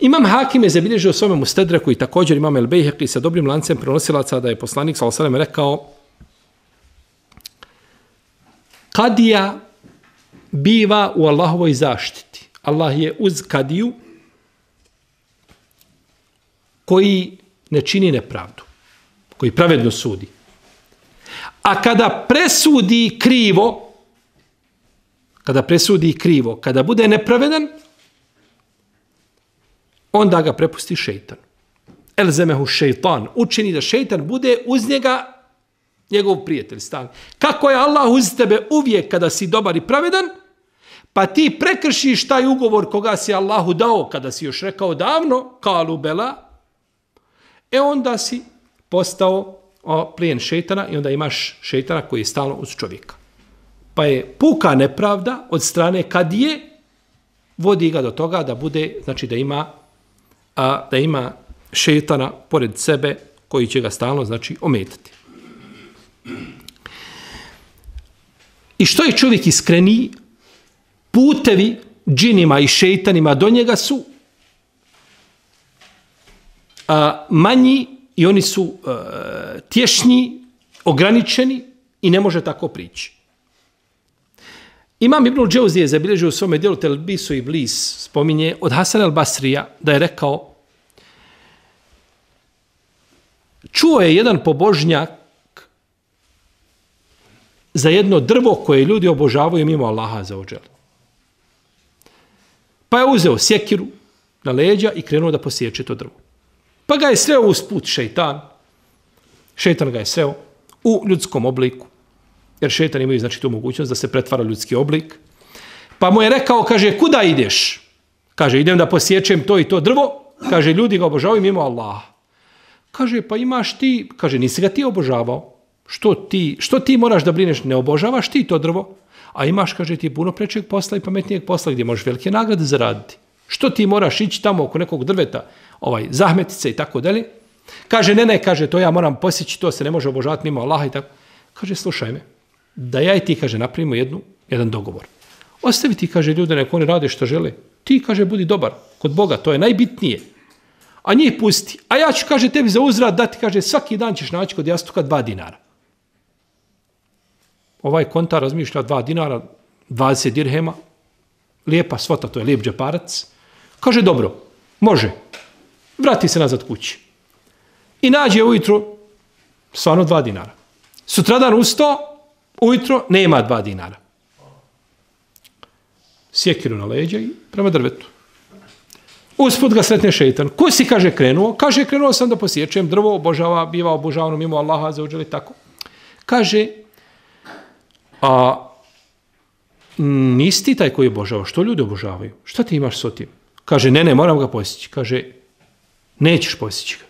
Imam Hakim je zabilježio u svome Mustedreku i također imam El Bejheqi sa dobrim lancem prenosilaca da je poslanik sallallahu alejhi ve sellem rekao: kadija biva u Allahovoj zaštiti. Allah je uz kadiju koji ne čini nepravdu, koji pravedno sudi. A kada presudi krivo, kada bude nepravedan, onda ga prepusti šejtan. Elzemehu šejtan, učini da šejtan bude uz njega njegov prijatelj, stan. Kako je Allah uz tebe uvijek kada si dobar i pravedan, pa ti prekršiš taj ugovor koga si Allahu dao, kada si još rekao davno, kalu bela, onda si postao plijen šejtana i onda imaš šejtana koji je stalno uz čovjeka. Pa je puka nepravda od strane kadije vodi ga do toga da bude, znači da ima šejtana pored sebe koji će ga stalno, znači, ometati. I što je čovjek iskreniji, putevi džinima i šejtanima do njega su manji i oni su tješnji, ograničeni i ne može tako prići. Imam Ibnul Džauzi je zabilježio u svome djelu Telbisu i Iblis, spominje od Hasan al-Basrija da je rekao: čuo je jedan pobožnjak za jedno drvo koje ljudi obožavaju mimo Allaha za ođel. Pa je uzeo sjekiru na leđa i krenuo da posječe to drvo. Pa ga je sreo usput šejtan. Šejtan ga je sreo u ljudskom obliku. Jer šejtan imaju, znači, tu mogućnost da se pretvara ljudski oblik. Pa mu je rekao, kaže, kuda ideš? Kaže, idem da posječem to i to drvo. Kaže, ljudi ga obožavaju mimo Allaha. Kaže, pa imaš ti, kaže, nisi ga ti obožavao. Što ti moraš da brineš? Ne obožavaš ti to drvo? A imaš, kaže, ti puno prečeg posla i pametnijeg posla gdje možeš velike nagrade zaraditi. Što ti moraš ići tamo oko nekog drveta, zahmetice i tako dalje? Kaže, ne, kaže, to ja moram posjeći, to se ne može obožavati mimo Allaha i tako. Kaže, slušaj me, da ja i ti, kaže, napravimo jedan dogovor. Ostavi ti, kaže, ljude, nek oni rade što žele. Ti, kaže, budi dobar kod Boga, to je najbitnije. A njih pusti. A ja ću, kaže, tebi za uzvrat dati, kaže, svaki dan ćeš naći kod jastuka 2 dinara. Ovaj kontar razmišlja 2 dinara, 20 dirhema, lijepa svota, to je lijep džeparac. Kaže, dobro, može. Vrati se nazad kući. I nađe ujutro stvarno 2 dinara. Sutradan ustao, ujutro nema 2 dinara. Sjekiru na leđa i prema drvetu. Usput ga sretne šejtan. Ko si, kaže, krenuo? Kaže, krenuo sam da posječem drvo, biva obožavano mimo Allaha za uđeli tako. Kaže, nisi ti taj koji obožava, što ljudi obožavaju? Šta ti imaš s tim? Kaže, ne, moram ga posjeći. Kaže, nećeš posjeći ga.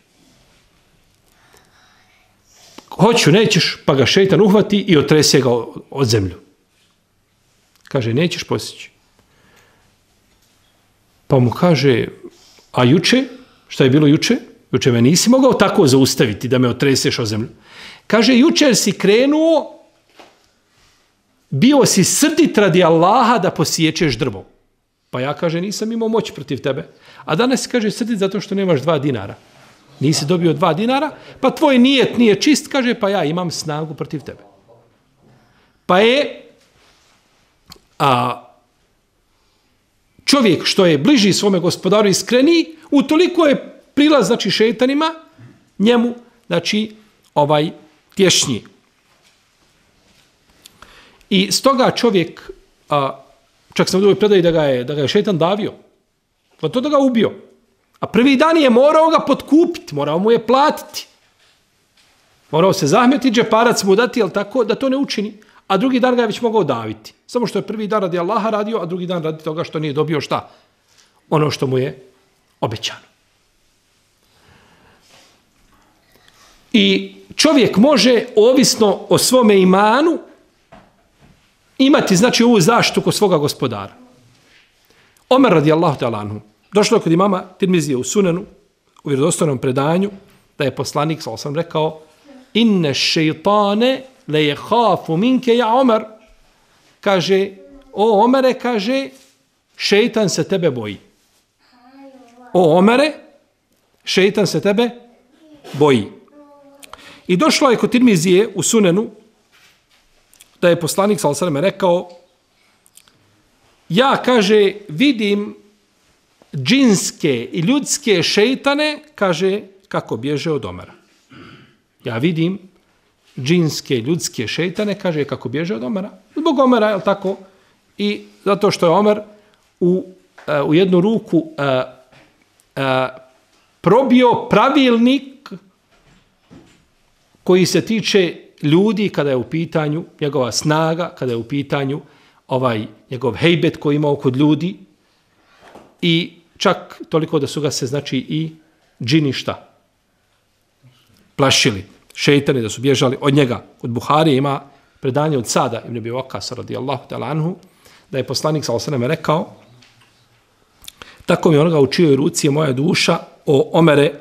Hoću, nećeš, pa ga šejtan uhvati i otrese ga od zemlju. Kaže, nećeš posjeći. Pa mu kaže, a juče? Šta je bilo juče? Juče me nisi mogao tako zaustaviti da me otreseš od zemlju. Kaže, jučer si krenuo, bio si srdit radi Allaha da posječeš drvo. Pa ja, kaže, nisam imao moć protiv tebe. A danas si, kaže, srdit zato što nemaš 2 dinara. Nisi dobio 2 dinara, pa tvoj nijet nije čist, kaže, pa ja imam snagu protiv tebe. Pa je čovjek što je bliži svome gospodaru iskreniji, utoliko je prilaz, znači, šejtanima, njemu, znači, tješnji. I stoga čovjek, čak sam u drugoj predaji da ga je šejtan davio, pa to da ga ubio. A prvi dan je morao ga potkupiti, morao mu je platiti. Morao se zahmetiti, džeparac mu dati, jel tako, da to ne učini. A drugi dan ga je već mogao daviti. Samo što je prvi dan radi Allaha radio, a drugi dan radi toga što nije dobio šta? Ono što mu je obećano. I čovjek može, ovisno o svome imanu, imati, znači, ovu zaštitu kod svoga gospodara. Omer radijallahu ta'ala anhu. Došlo je kod imama Tirmizije u Sunanu, u vjerodostojnom predanju, da je poslanik, sam rekao, inne šeitane le je hafu minke ja Omer. Kaže, o Omere, kaže, šeitan se tebe boji. o Omere, šeitan se tebe boji. I došlo je kod Tirmizije u Sunenu da je poslanik sallallahu alejhi ve sellem rekao: ja, kaže, vidim džinske i ljudske šeitane, kaže, kako bježe od Omera. Ja vidim džinske i ljudske šeitane, kaže, kako bježe od Omera. Zbog Omera, je li tako? I zato što je Omer u jednu ruku probio pravilnik koji se tiče ljudi kada je u pitanju njegova snaga, kada je u pitanju njegov hejbet koji imao kod ljudi i čak toliko da su ga se, znači, i džini šta? Plašili. Šeitani da su bježali od njega. Od Buharije ima predanje od Sada ibn Abi Waqqas radijallahu ta'ala anhu, da je poslanik sallallahu alejhi ve sellem rekao: tako mi onoga u čijoj ruci je moja duša, o Omere,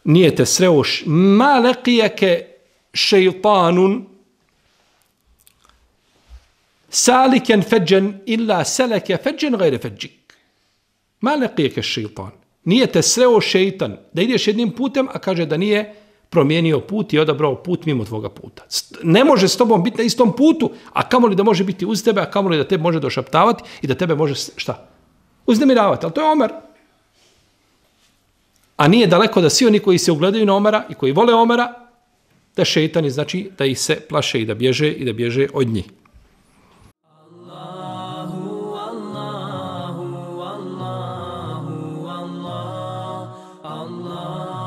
nije te sreo ma laqiyaka šeitanun salikan fajjan illa salaka fajjan ghayra fajjik. Ma laqiyaka šeitan. Nije te sreo šeitan da ideš jednim putem, a kaže da nije promijenio put i odabrao put mimo tvoga puta. Ne može s tobom biti na istom putu, a kamoli da može biti uz tebe, a kamoli da tebe može došaptavati i da tebe može, šta? Uznemiravati. Ali to je Omer. A nije daleko da svi oni koji se ugledaju na Omera i koji vole Omera, da šeitani, znači, da ih se plaše i da bježe od njih. Allah